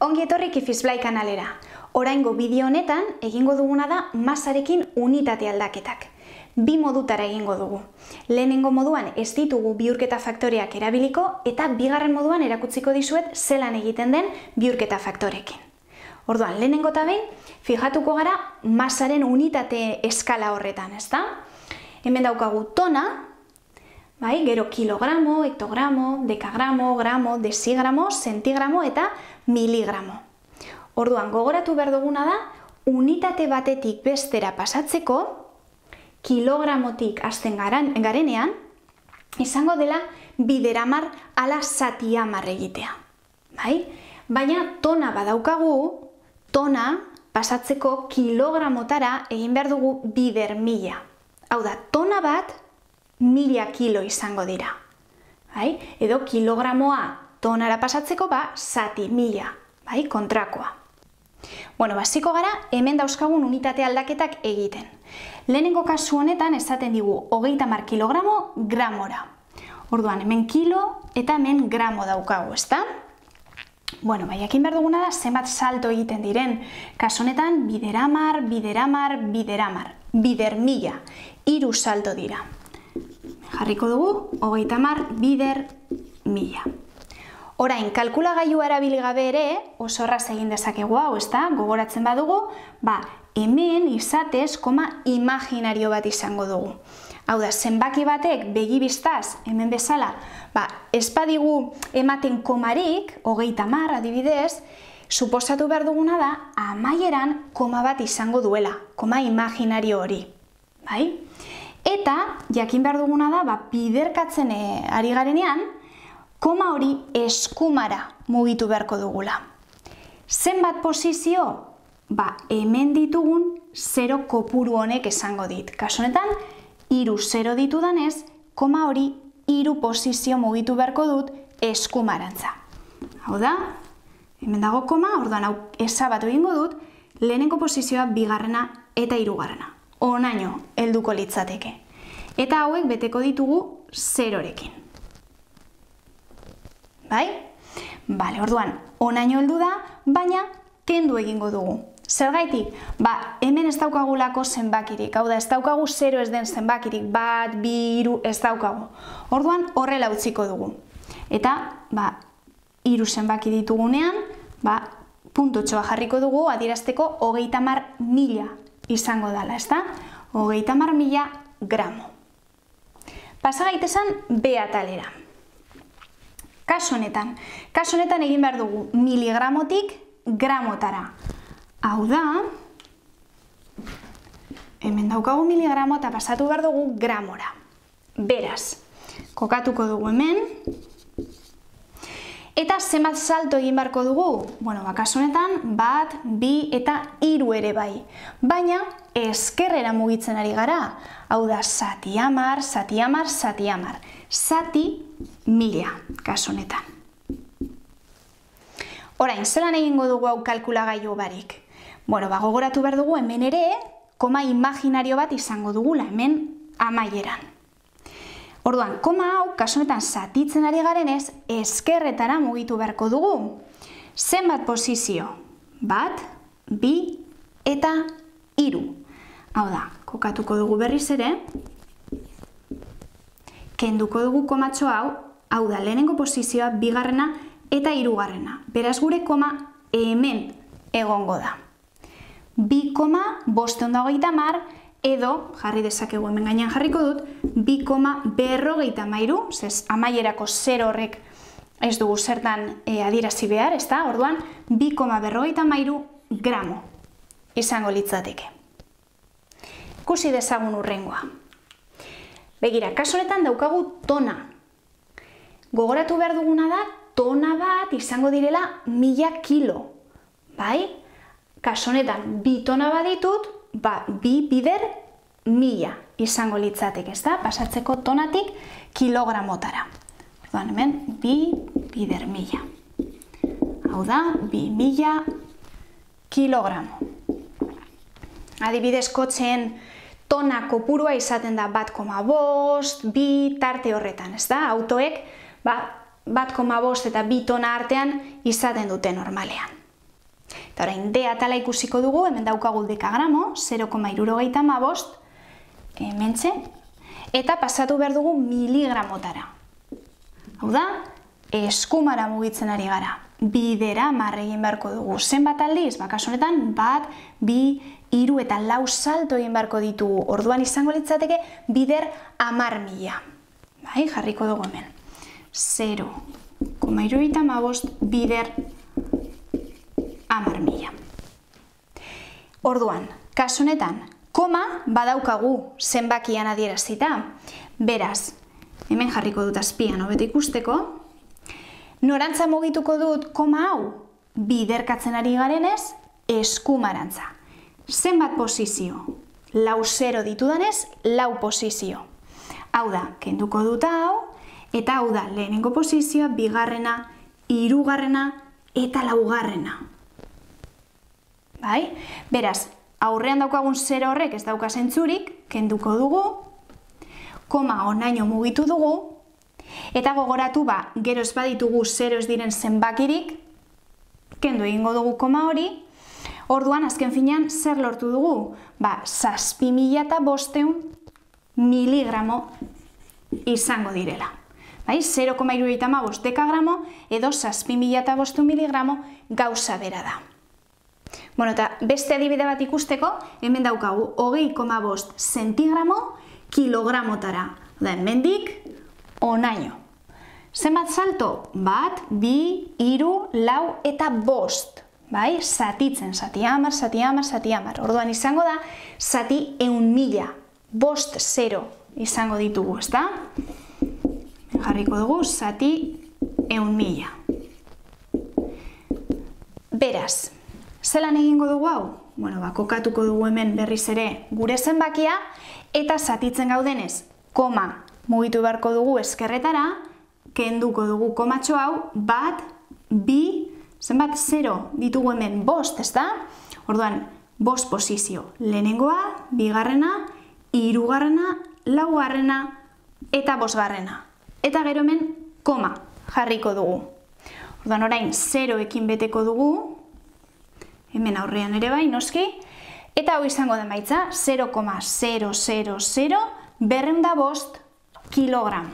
Ongi etorri Kifisblai kanalera. Oraingo bideo honetan egingo duguna da masarekin unitate aldaketak. Bi modutara egingo dugu. Lehenengo moduan ez ditugu bihurketa faktoreak erabiliko eta bigarren moduan erakutsiko dizuet zelan egiten den bihurketa faktorekin. Orduan, lehenengo eta behin, fijatuko gara masaren unitate eskala horretan, ezta? Hemen daukagu tona, bai, gero kilogramo, hektogramo, dekagramo, gramo, desigramo, sentigramo eta miligramo. Orduan, gogoratu behar duguna da, unitate batetik bestera pasatzeko, kilogramotik hasten garenean, izango dela bideramar ala zatiamar egitea. Bai? Baina tona badaukagu, tona pasatzeko kilogramotara egin behar dugu bider mila. Hau da, tona bat 1000 kilo izango dira. Bai? Edo kilogramoa tonara pasatzeko zati 1000, bai? Kontrakoa. Bueno, hasiko gara hemen dauzkagun unitate aldaketak egiten. Lehenengo kasu honetan esaten digu 30 kilogramo gramora. Orduan, hemen kilo eta hemen gramo daukagu, ezta? Bueno, jakin behar duguna da zenbat salto egiten diren. Kasu honetan bideramar, bideramar, bideramar. Bider mila. 3 salto dira. Jarriko dugu 30 bider mila. Orain, kalkulagailua erabili gabe ere, oso erraz egin dezakegu hau, ezta? Gogoratzen badugu, hemen izatez koma imaginario bat izango dugu. Hau da, zenbaki batek begibistaz, hemen bezala, ez badigu ematen komarik, 30 adibidez, suposatu behar duguna da, amaieran koma bat izango duela, koma imaginario hori. Bai? Eta, jakin behar duguna da, biderkatzen ari garenean, koma hori eskumara mugitu beharko dugula. Zenbat posizio? Hemen ditugun 0 kopuru honek esango dit. Kasu honetan, 3 0 ditudanez, koma hori 3 posizio mugitu beharko dut eskumarantza. Hau da, hemen dago koma, orduan hau ezabatu egingo dut, lehenengo posizioa bigarrena eta hirugarrena. Honaino helduko litzateke. Eta hauek beteko ditugu 0rekin. Bai? Bale, orduan, honaino heldu da, baina kendu egingo dugu. Zergaitik? Hemen ez daukagulako zenbakirik. Hau da, ez daukagu 0 ez den zenbakirik. 1, 2, 3, ez daukagu. Orduan, horrela utziko dugu. Eta, 3 zenbaki ditugunean, puntotxoa jarriko dugu, adierazteko 30.000 izango dela, ezta? 30.000 gramo. Pasa gaitezen B atalera. Kasu honetan egin behar dugu miligramotik gramotara. Hau da, hemen daukagu miligramo eta pasatu behar dugu gramora. Beraz, kokatuko dugu hemen. Eta zenbat salto egin beharko dugu? Bueno, kasu honetan, 1, 2 eta 3 ere bai. Baina, ezkerrera mugitzen ari gara. Hau da, zatiamar, zatiamar, zatiamar. Zati 1000, kasu honetan. Orain, zelan egingo dugu hau kalkulagailu barik? Bueno, gogoratu behar dugu hemen ere, koma imaginario bat izango dugula, hemen amaieran. Orduan, koma hau, kasu honetan zatitzen ari garenez, ezkerretara mugitu beharko dugu. Zenbat posizio? 1, 2 eta 3. Hau da, kokatuko dugu berriz ere, kenduko dugu komatxo hau da, lehenengo posizioa, bigarrena eta hirugarrena. Beraz gure koma hemen egongo da. 2,530 edo, jarri dezakegu hemen gainean jarriko dut, 2,53, zez amaierako 0 horrek ez dugu zertan adierazi behar, ezta? Orduan, 2,53 gramo izango litzateke. Ikusi dezagun hurrengoa. Begira, kasu honetan daukagu tona. Gogoratu behar duguna da, tona bat izango direla 1000 kilo. Bai? Kasu honetan, 2 tona bat ditut, 2 bider 1000 izango litzateke, ezta? Pasatzeko tonatik kilogramotara. Orduan, hemen, 2 bider 1000. Hau da, 2000 kilogramo. Adibidez, kotxeen tona kopurua izaten da 1,5, 2 tarte horretan, ezta? Autoek 1,5 eta 2 tona artean izaten dute normalean. Eta orain, D atala ikusiko dugu, hemen daukagu dekagramo, 0,75, hementxe, eta pasatu behar dugu miligramotara. Hau da, eskumara mugitzen ari gara. Bidera egin beharko dugu. Zenbat aldiz? Kasu honetan, 1, 2, 3 eta 4 salto egin beharko ditugu. Orduan izango litzateke bider 10.000. Bai, jarriko dugu hemen. 0,75 bider 10.000. Orduan, kasu honetan, koma badaukagu zenbakian adierazita. Beraz, hemen jarriko dut azpian hobeto ikusteko. Norantza mugituko dut koma hau? Biderkatzen ari garenez, eskumarantza. Zenbat posizio? 4 ditudanez, 4 posizio. Hau da, kenduko dut hau, eta hau da, lehenengo posizioa, bigarrena, hirugarrena eta laugarrena. Bai? Beraz, aurrean daukagun 0 horrek ez dauka zentzurik, kenduko dugu, koma honaino mugitu dugu, eta gogoratu gero ez baditugu 0 ez diren zenbakirik, kendu egingo dugu koma hori, orduan azken finean zer lortu dugu? 7.500 miligramo izango direla. 0,75 dekagramo edo 7.500 miligramo gauza bera da. Eta beste adibide bat ikusteko, hemen daukagu 20,5 zentigramo kilogramotara. Hemendik honaino. Zenbat salto? 1, 2, 3, 4 eta 5. Zatitzen, zati 10. Orduan izango da, zati 100.000. 5 0 izango ditugu, ezta? Jarriko dugu, zati 100.000. Beraz, zelan egingo dugu hau? Kokatuko dugu hemen berriz ere gure zenbakia, eta zatitzen gaudenez, koma mugitu beharko dugu ezkerretara, kenduko dugu komatxo hau, 1, 2, zenbat 0 ditugu hemen 5, ezta? Orduan, 5 posizio. Lehenengoa, bigarrena, hirugarrena, laugarrena eta 5garrena. Eta gero hemen koma jarriko dugu. Orduan, orain 0ekin beteko dugu, hemen aurrean ere bai, noski, eta hau izango da emaitza, 0,000 kilogramo.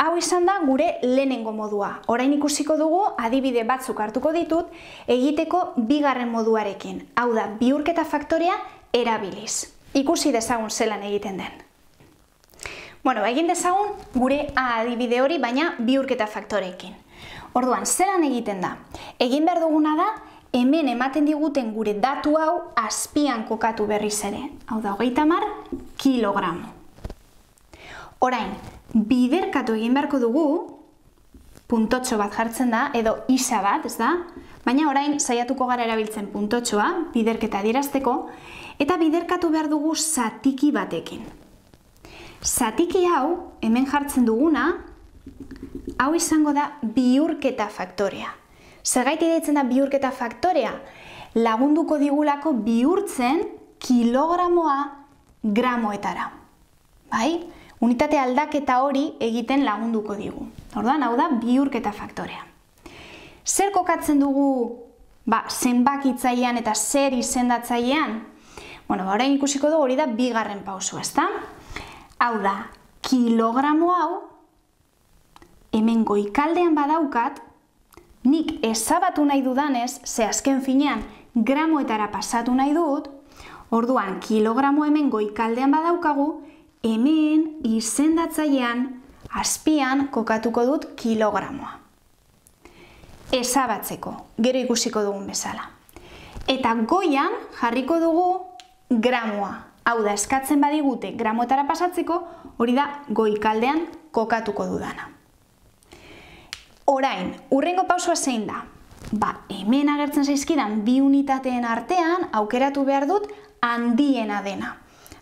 Hau izan da gure lehenengo modua. Orain ikusiko dugu, adibide batzuk hartuko ditut, egiteko bigarren moduarekin. Hau da, bihurketa faktorea erabiliz. Ikusi dezagun zelan egiten den. Egin dezagun gure A adibide hori, baina bihurketa faktoreekin. Orduan, zelan egiten da? Egin behar duguna da, hemen ematen diguten gure datu hau azpian kokatu berriz ere. Hau da, 30 kilogramo. Orain, biderkatu egin beharko dugu, puntotxo bat jartzen da, edo isa bat, ez da? Baina orain saiatuko gara erabiltzen puntotxoa, biderketa adierazteko, eta biderkatu behar dugu zatiki batekin. Zatiki hau, hemen jartzen duguna, hau izango da bihurketa faktorea. Zergaiti deitzen da bihurketa faktorea? Lagunduko digulako bihurtzen kilogramoa gramoetara. Bai? Unitate aldaketa hori egiten lagunduko digu. Orduan, hau da bihurketa faktorea. Zer kokatzen dugu zenbakitzailean eta zer izendatzailean? Orain ikusiko dugu hori da bigarren pauso, ezta? Hau da, kilogramo hau, hemen goikaldean badaukat, nik ezabatu nahi dudanez, ze azken finean gramoetara pasatu nahi dut, orduan kilogramo hemen goikaldean badaukagu, hemen izendatzailean azpian kokatuko dut kilogramoa. Ezabatzeko, gero ikusiko dugun bezala. Eta goian jarriko dugu gramoa. Hau da, eskatzen badigute gramoetara pasatzeko, hori da goikaldean kokatuko dudana. Orain, hurrengo pausua zein da? Hemen agertzen zaizkidan bi unitateen artean aukeratu behar dut handiena dena.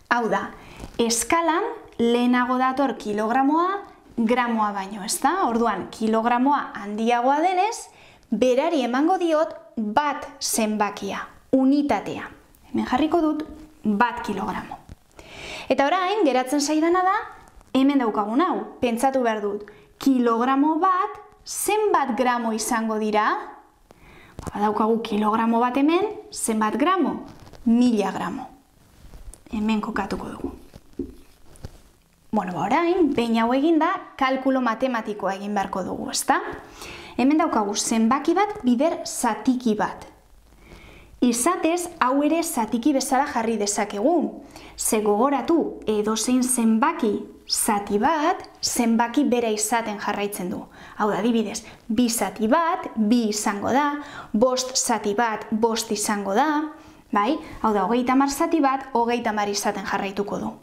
Hau da, eskalan lehenago dator kilogramoa gramoa baino, ezta? Orduan, kilogramoa handiagoa denez, berari emango diot bat zenbakia, unitatea. Hemen jarriko dut 1 kilogramo. Eta orain, geratzen zaidana da, hemen daukagun hau, pentsatu behar dut, kilogramo bat zenbat gramo izango dira? Badaukagu kilogramo bat hemen, zenbat gramo? 1000 gramo. Hemen kokatuko dugu. Bueno, orain, behin hau eginda, kalkulo matematikoa egin beharko dugu, ezta? Hemen daukagu zenbaki bat, bider zatiki bat. Izatez, hau ere zatiki bezala jarri dezakegu. Ze gogoratu, edozein zenbaki zati bat, zenbaki bera izaten jarraitzen du. Hau da, adibidez, 2 zati bat, 2 izango da, 5 zati bat, 5 izango da, bai? Hau da, 30 zati bat, 30 izaten jarraituko du.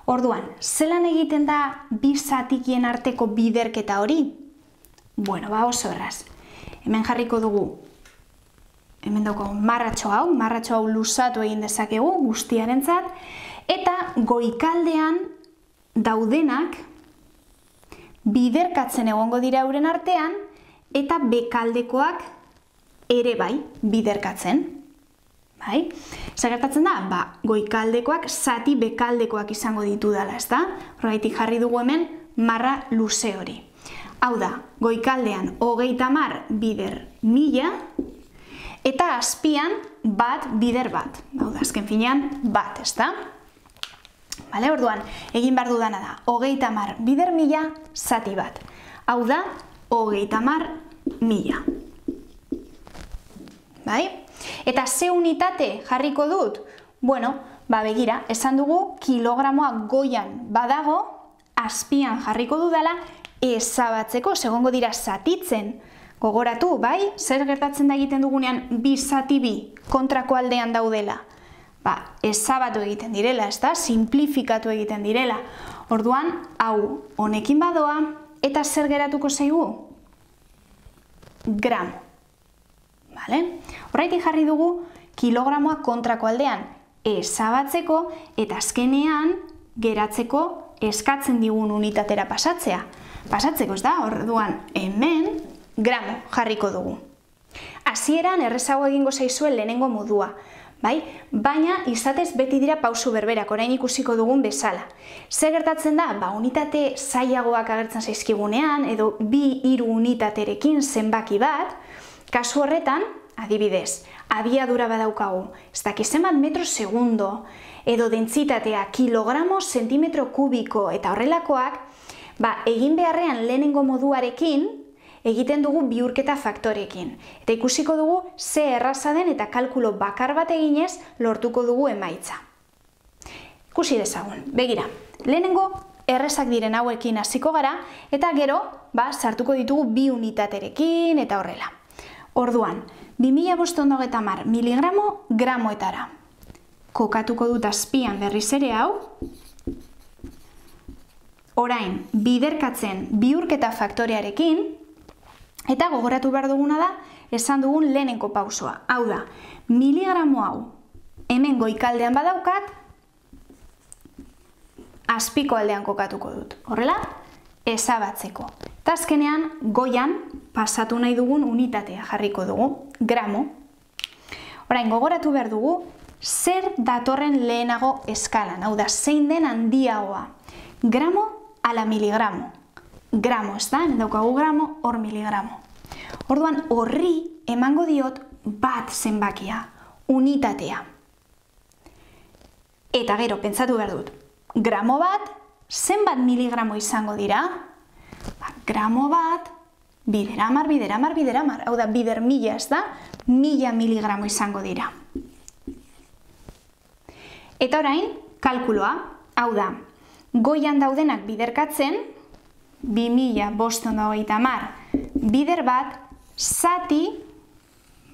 Orduan, zelan egiten da 2 zatikien arteko biderketa hori? Bueno, oso erraz. Hemen jarriko dugu, hemen daukagu marratxo hau luzatu egin dezakegu guztiarentzat, eta goikaldean daudenak biderkatzen egongo dira euren artean, eta bekaldekoak ere bai biderkatzen. Bai? Zer gertatzen da? Goikaldekoak zati bekaldekoak izango ditu dela, ezta? Horregatik jarri dugu hemen marra luze hori. Hau da, goikaldean 30 bider 1000, eta azpian bat bider bat. Hau da, azken finean bat, ezta? Bale, orduan, egin behar dudana da, 30 bider 1000 zati bat. Hau da, 30.000. Bai? Eta ze unitate jarriko dut? Bueno, begira, esan dugu kilogramoa goian badago, azpian jarriko dudala, ezabatzeko, segongo dira zatitzen. Gogoratu, bai? Zer gertatzen da egiten dugunean 2 zati 2 kontrako aldean daudela? Ezabatu egiten direla, ezta? Simplifikatu egiten direla. Orduan, hau honekin badoa, eta zer geratuko zaigu? Gramo. Horregatik jarri dugu kilogramoa kontrako aldean ezabatzeko eta azkenean geratzeko eskatzen digun unitatera pasatzea. Pasatzeko, ez da? Orduan, hemen gramo jarriko dugu. Hasieran errezago egingo zaizuen lehenengo modua, bai? Baina izatez beti dira pausu berberak, orain ikusiko dugun bezala. Zer gertatzen da? Unitate zailagoak agertzen zaizkigunean, edo 2-3 unitaterekin zenbaki bat, kasu horretan, adibidez, abiadura badaukagu, ez dakiz zenbat metro segundo, edo dentsitatea kilogramo zentimetro kubiko eta horrelakoak, egin beharrean lehenengo moduarekin, egiten dugu bihurketa faktorekin. Eta ikusiko dugu ze erraza den eta kalkulo bakar bat eginez lortuko dugu emaitza. Ikusi dezagun, begira, lehenengo errezak diren hauekin hasiko gara, eta gero, sartuko ditugu 2 unitaterekin eta horrela. Orduan, 2530 miligramo gramoetara. Kokatuko dut azpian berriz ere hau. Orain, biderkatzen bihurketa faktorearekin, eta gogoratu behar duguna da, esan dugun lehenengo pausoa. Hau da, miligramo hau hemen goikaldean badaukat, azpiko aldean kokatuko dut. Horrela, ezabatzeko. Eta azkenean, goian pasatu nahi dugun unitatea jarriko dugu, gramo. Orain, gogoratu behar dugu, zer datorren lehenago eskalan. Hau da, zein den handiagoa. Gramo ala miligramo. Gramo, ez da? Daukagu gramo, hor miligramo. Orduan, horri emango diot bat zenbakia, unitatea. Eta gero, pentsatu behar dut, gramo bat, zenbat miligramo izango dira? Gramo bat, bideramar. Hau da, bider 1000, ez da? 1000 miligramo izango dira. Eta orain, kalkuloa, hau da, goian daudenak biderkatzen, 2530 bider bat, zati,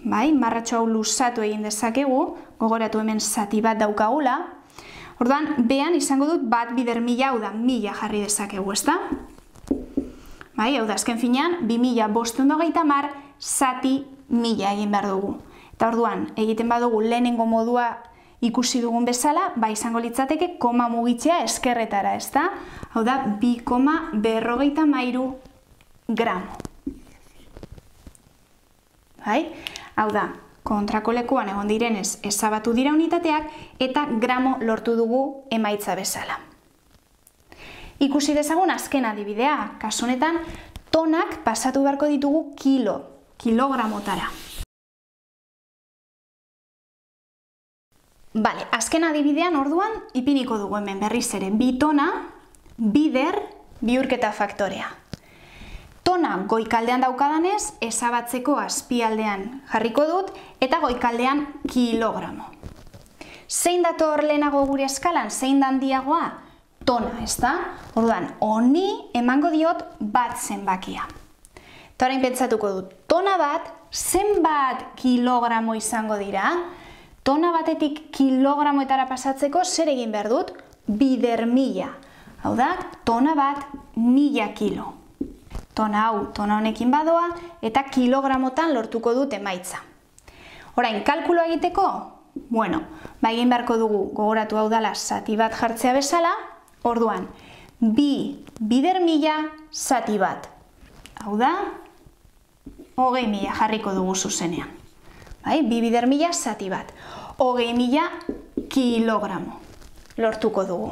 marratxo hau luzatu egin dezakegu, gogoratu hemen zati bat daukagula, orduan, behan izango dut bat bider 1000, hau da, 1000 jarri dezakegu, ez da? Hau da, azken finean, 2530 zati 1000 egin behar dugu. Eta orduan, egiten badugu lehenengo modua ikusi dugun bezala, izango litzateke koma mugitzea eskerretara, ez da? Hau da, 2,53 gramo. Hau da, kontrako lekuan egon direnez ezabatu dira unitateak eta gramo lortu dugu emaitza bezala. Ikusi dezagun azken adibidea, kasu honetan tonak pasatu beharko ditugu kilogramotara. Bale, azken adibidean orduan ipiniko dugu hemen berriz ere. 2 tona, bider, bihurketa faktorea. Tona goikaldean daukadanez, ezabatzeko azpialdean jarriko dut, eta goikaldean kilogramo. Zein dator lehenago gure eskalan, zein da handiagoa? Tona, ezta? Orduan, honi emango diot bat zenbakia. Eta orain pentsatuko dut, tona bat zenbat kilogramo izango dira? Tona batetik kilogramoetara pasatzeko zer egin behar dut? Bider 1000. Hau da, tona bat 1000 kilo. Tona hau, tona honekin badoa, eta kilogramotan lortuko dut emaitza. Orain, kalkulo egiteko? Bueno, egin beharko dugu, gogoratu hau dela zati bat jartzea bezala, orduan, 2 bider 1000 zati bat. Hau da, 20.000 jarriko dugu zuzenean. 2 bider 1000 zati bat. 20.000 kilogramo lortuko dugu.